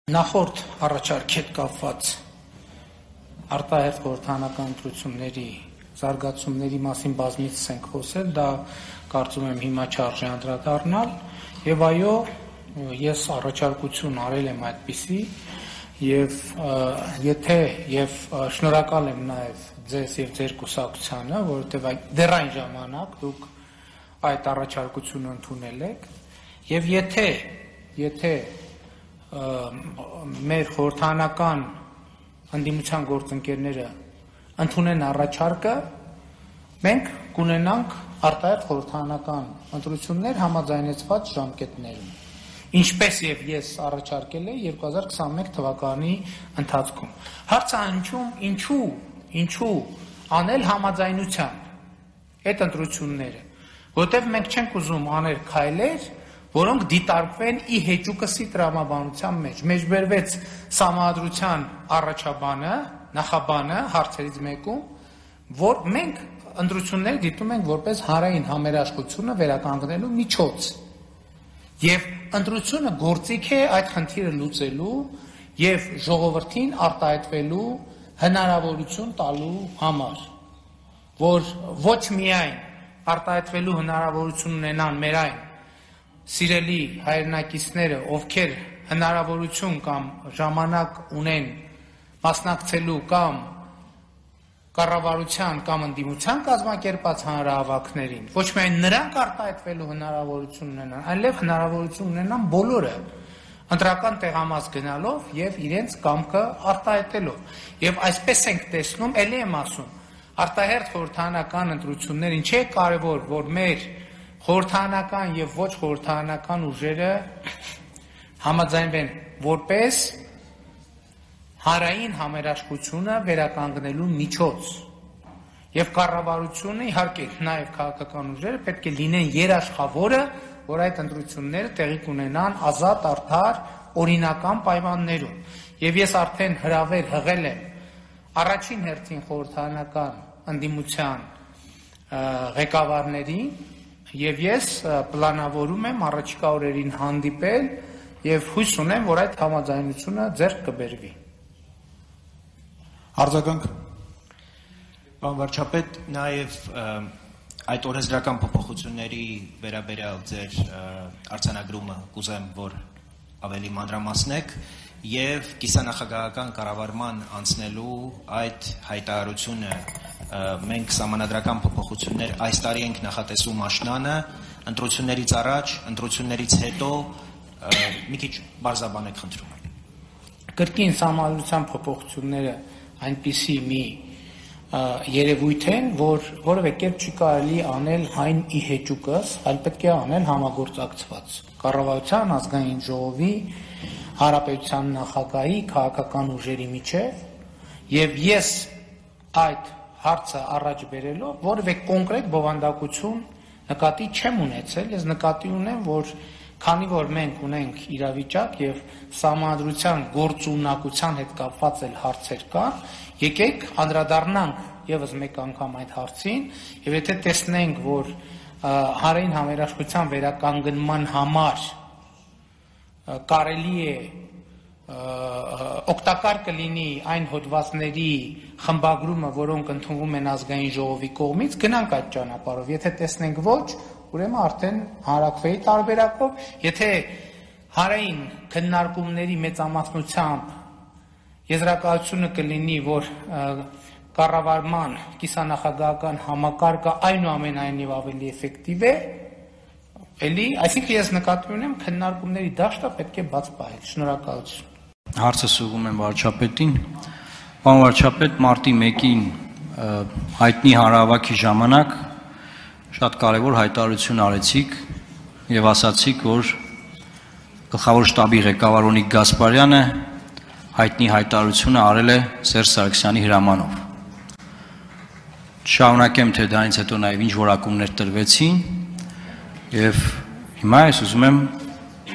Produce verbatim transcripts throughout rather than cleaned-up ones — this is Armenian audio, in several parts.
Նախորդ առաջարկ հետ կապված արտահերթ խորհրդարանական ընտրությունների զարգացումների մասին բազմիցս ենք խոսել, դա կարծում եմ հիմա չարժե անդրադառնալ, եւ այո, ես առաջարկություն արել եմ այդպիսի, եւ եթե եւ շնորհակալ եմ նաեւ ձեզ եւ ձեր կուսակցությանը, որովհետեւ դեռ այն ժամանակ դուք այդ առաջարկությունը ընդունել եք, եւ եթե եթե մեր խորհրդարանական ընդդիմության գործընկերները ընդունեն առաջարկը, մենք կունենանք արտահերթ խորհրդարանական ընտրություններ համաձայնեցված ժամկետներում, ինչպես եւ ես առաջարկել եմ երկու հազար քսաներկու թվականի ընթացքում։ Հարցը հնչում ինչու, ինչու անել համաձայնությամբ այդ ընտրությունները, որովհետեւ մենք չենք ուզում անել քայլեր, որոնք դիտարկվեն ի հեճուկսի տրամաբանության մեջ։ Մեջ բերվեց Սահմանադրության առաջաբանը, նախաբանը հարցերից մեկում, որ մենք ընտրությունները դիտում ենք որպես հանրային համերաշխությունը վերականգնելու միջոց։ Եվ ընտրությունը գործիք է այդ խնդիրը լուծելու եւ ժողովրդին արտահայտվելու հնարավորություն տալու համար, որ ոչ միայն արտահայտվելու հնարավորություն ունենան մեր այն սիրելի հայրենակիցները, ովքեր հնարավորություն կամ ժամանակ ունեն մասնակցելու կամ կառավարության կամ ընդդիմության կազմակերպած հանրահավաքներին, ոչ միայն նրանք արտահայտվելու հնարավորություն ունենան, այլև հնարավորություն ունենան բոլորը ընտրական տեղամաս գնալով եւ իրենց կամքը արտահայտելով։ Եվ այսպես ենք տեսնում, ելի եմ ասում, արտահերթ խորհրդարանական ընտրություններ ինչ է կարևոր, որ մեր խորհրդարանական եւ ոչ խորհրդարանական ուժերը համաձայնվեն որպես հանրային համերաշխությունը վերականգնելու միջոց եւ կառավարությունը իհարկե նաեւ քաղաքական ուժերը պետք է լինեն երաշխավորը, որ այդ ընտրությունները տեղի կունենան ազատ, արդար, օրինական պայմաններում։ Եվ ես արդեն հրավեր հղել եմ առաջին հերթին խորհրդարանական ընդդիմության ղեկավարներին եւ ես պլանավորում եմ առաջիկա օրերին հանդիպել եւ հույս ունեմ, որ այդ համաձայնությունը ձեռք կբերվի։ Արձագանք։ Պարոն վարչապետ, նաեւ այդ օրենսդրական փոփոխությունների վերաբերյալ ձեր արձանագրումը կուզեմ, որ ավելի մանրամասնեք եւ կիսանախագահական կառավարման անցնելու այդ հայտարարությունը մենք սահմանադրական փոփոխություններ այս տարի ենք նախատեսում աշնանը, ընտրություններից առաջ, ընտրություններից հետո մի քիչ բարձրաբանեք խնդրում եմ։ Կրկին սահմանադրության փոփոխությունները այնպիսի մի երևույթ են, որ որևէ կերպ չի կարելի անել այն ի հեճուկս, այլ պետք է անել համագործակցված կառավարության, ազգային ժողովի, հանրապետության նախագահի, քաղաքական ուժերի միջև, եւ ես այդ հարցը առաջ բերելով որևէ կոնկրետ բովանդակություն նկատի չեմ ունեցել, ես նկատի ունեմ, որ քանի որ մենք ունենք իրավիճակ եւ սահմանադրության գործունակության հետ կապված էլ հարցեր կան, եկեք անդրադառնանք եւս մեկ անգամ այդ հարցին, եւ եթե տեսնենք, որ հանրային համերաշխության վերականգնման համար կարելի է օգտակար կլինի այն հոդվածների խմբագրումը, որոնք ընդունվում են ազգային ժողովի կողմից, գնանք այդ ճանապարհով, եթե տեսնենք ոչ, ուրեմն արդեն հանրակրվեի տարբերակով, եթե հանրային քննարկումների մեծամասնությամբ եզրակացությունը կլինի, որ կառավարման կիսանախագահական համակարգը այնուամենայնիվ ավելի էֆեկտիվ է, էլի, այսինքն ես նկատի ունեմ քննարկումների դաշտը պետք է բաց պահել։ Շնորհակալություն։ Հարցը սուղում եմ վարչապետին։ Պարոն վարչապետ, մարտի մեկին հայտնի հանրահավաքի ժամանակ շատ կարևոր հայտարարություն արեցիք եւ ասացիք, որ գլխավոր շտաբի ղեկավար Օնիկ Գասպարյանը հայտնի հայտարարությունը արել է Սերժ Սարգսյանի հրամանով։ Շարունակեմ, թե դրանից հետո նաեւ ինչ որակումներ տրվեցին եւ հիմա ես ուզում եմ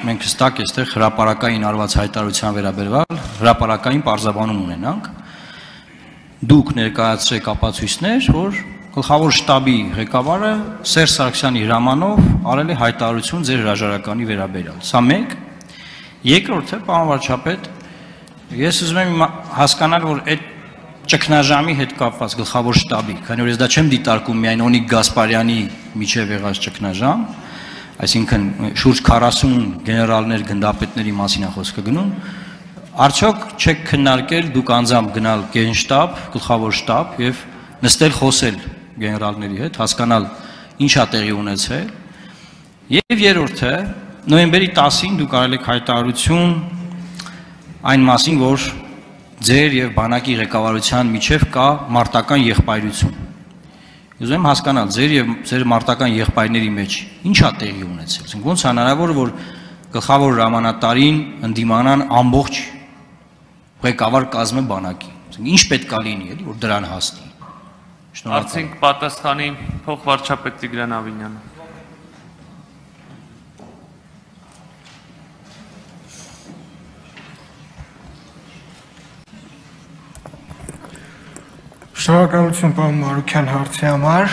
մենք հստակ այստեղ հրապարակային արված հայտարարության վերաբերյալ հրապարակային պարզաբանում ունենանք։ Դուք ներկայացրեք ապացույցներ, որ գլխավոր շտաբի ղեկավարը Սերժ Սարգսյանի հրամանով արել է հայտարարություն ձեր հրաժարականի վերաբերյալ։ Սա մեկ։ Երկրորդը, պարոն վարչապետ, Ես ուզում եմ հասկանալ, որ այդ ճգնաժամի հետ կապված գլխավոր շտաբի, քանի որ ես դա չեմ դիտարկում միայն Օնիկ Գասպարյանի միջև եղած ճգնաժամ, այսինքն շուրջ քառասուն գեներալներ, գնդապետների մասին է խոսքը գնում, արդյոք չեք քննարկել դուք անձամբ գնալ գենշտաբ, գլխավոր շտաբ եւ նստել խոսել գեներալների հետ, հասկանալ ինչ է տեղի ունեցել, եւ երրորդը նոյեմբերի տասին դուք արել եք հայտարարություն այն մասին, որ ձեր եւ բանակի ղեկավարության միջև կա մարտական եղբայրություն։ Ուզում եմ հասկանալ, ձեր եւ ձեր մարտական եղբայրների մեջ ինչ է տեղի ունեցել։ Այսինքն ոնց է հնարավոր, որ գլխավոր հրամանատարին ընդդիմանան ամբողջ ղեկավար կազմը բանակի։ Այսինքն ինչ պետք է լինի, էլի, որ դրան հասնի։ Արդյունք պատասխանի փոխվարչապետ Տիգրան Ավինյանը։ Շնորհակալություն պարոն Մարուկյան հարցի համար։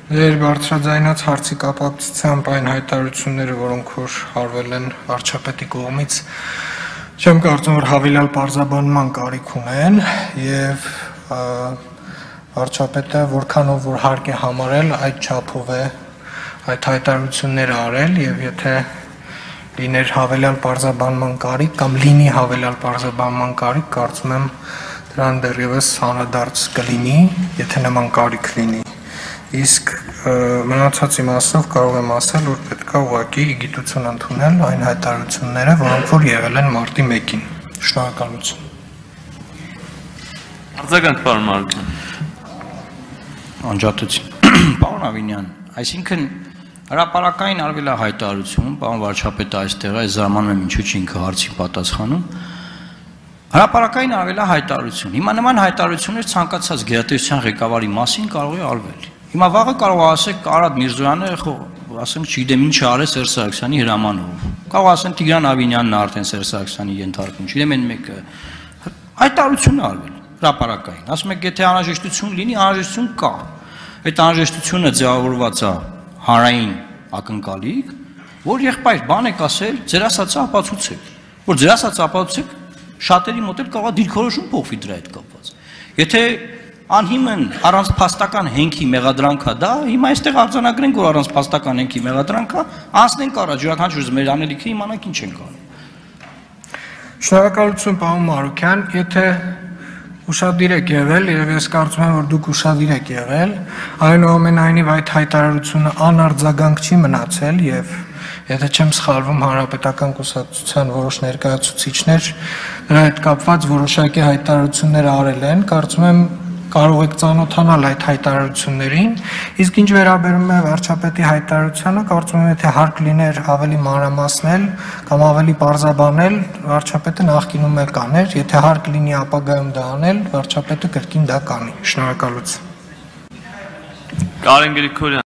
Ձեր բարձրաձայնած հարցի կապակցությամբ այն հայտարարությունները, որոնք որ արվել են վարչապետի կողմից, չեմ կարծում, որ հավելյալ պարզաբանման կարիք ունեն եւ վարչապետը որքանով որ հարկ է համարել, այդ չափով է այդ հայտարարությունները արել եւ եթե լիներ հավելյալ պարզաբանման կարիք կամ լինի հավելյալ պարզաբանման կարիք, կարծում եմ դրան դեռևս հանրադարձ կլինի, եթե նման կարիք լինի։ Իսկ մնացածի մասով կարող եմ ասել, որ պետք է ուղղակի գիտություն ընդունել այն հայտարարությունները, որոնք որ եղել են մարտի մեկին։ Շնորհակալություն։ Արձագանք պարոն Մարուկյան։ Անջատություն։ Պարոն Ավինյան, այսինքն հրապարակային արվել է հայտարարություն, պարոն վարչապետը այստեղ է, զարմանում եմ ինչու՞ չի ինքը հարցի պատասխանում։ Հրապարակային արվել է հայտարարություն։ Հիմա նման հայտարարություններ ցանկացած գերատեսչության ղեկավարի մասին կարող է արվել։ Հիմա վաղը կարող է ասեք Արադ Միրզոյանը, ասենք, չգիտեմ ինչ արել Սերժ Սարգսյանի հրամանով։ Կարող ասեն Տիգրան Ավինյանն է արդեն Սերժ Սարգսյանի ենթարկում, չգիտեմ այն մեկը։ Հայտարարություն է արվել հրապարակային։ Ասում եք, եթե անհրաժեշտություն լինի, անհրաժեշտություն կա։ Այդ անհրաժեշտությունը ձևավորված է հանրային ակնկալիք, որ եղբայր բան եք ասել, ձեր ասածը ապացուցեք։ Որ ձեր ասածը ապացուցեք, շատերի մոտ էլ կարող է դիրքորոշում փոխվի դրա հետ կապված։ Եթե անհիմն առանց փաստական հենքի մեղադրանքա դա, հիմա այստեղ արձանագրենք, որ առանց փաստական հենքի մեղադրանքա, անցնենք առաջ, յուրաքանչյուր մեր անելիքը իմանանք ինչ ենք անում։ Շնորհակալություն պարոն Մարուկյան, եթե ուշադիր եք եղել, եւ ես կարծում եմ, որ դուք ուշադիր եք եղել, այնուամենայնիվ այդ հայտարարությունը անարձագանք չի մնացել եւ եթե չեմ սխալվում, հանրապետական կուսակցության որոշ ներկայացուցիչներ դրա հետ կապված որոշակի հայտարարություններ արել են, կարծում եմ կարող եք ծանոթանալ այդ հայտարարություններին, իսկ ինչ վերաբերում է վարչապետի հայտարարությանը, կարծում եմ, եթե հարկ լիներ ավելի մանրամասնել կամ ավելի պարզաբանել, վարչապետը նախկինում էլ կաներ, եթե հարկ լինի ապագայում դա անել, վարչապետը կրկին դա կանի։ Շնորհակալություն։ Կարեն Գրիգորյան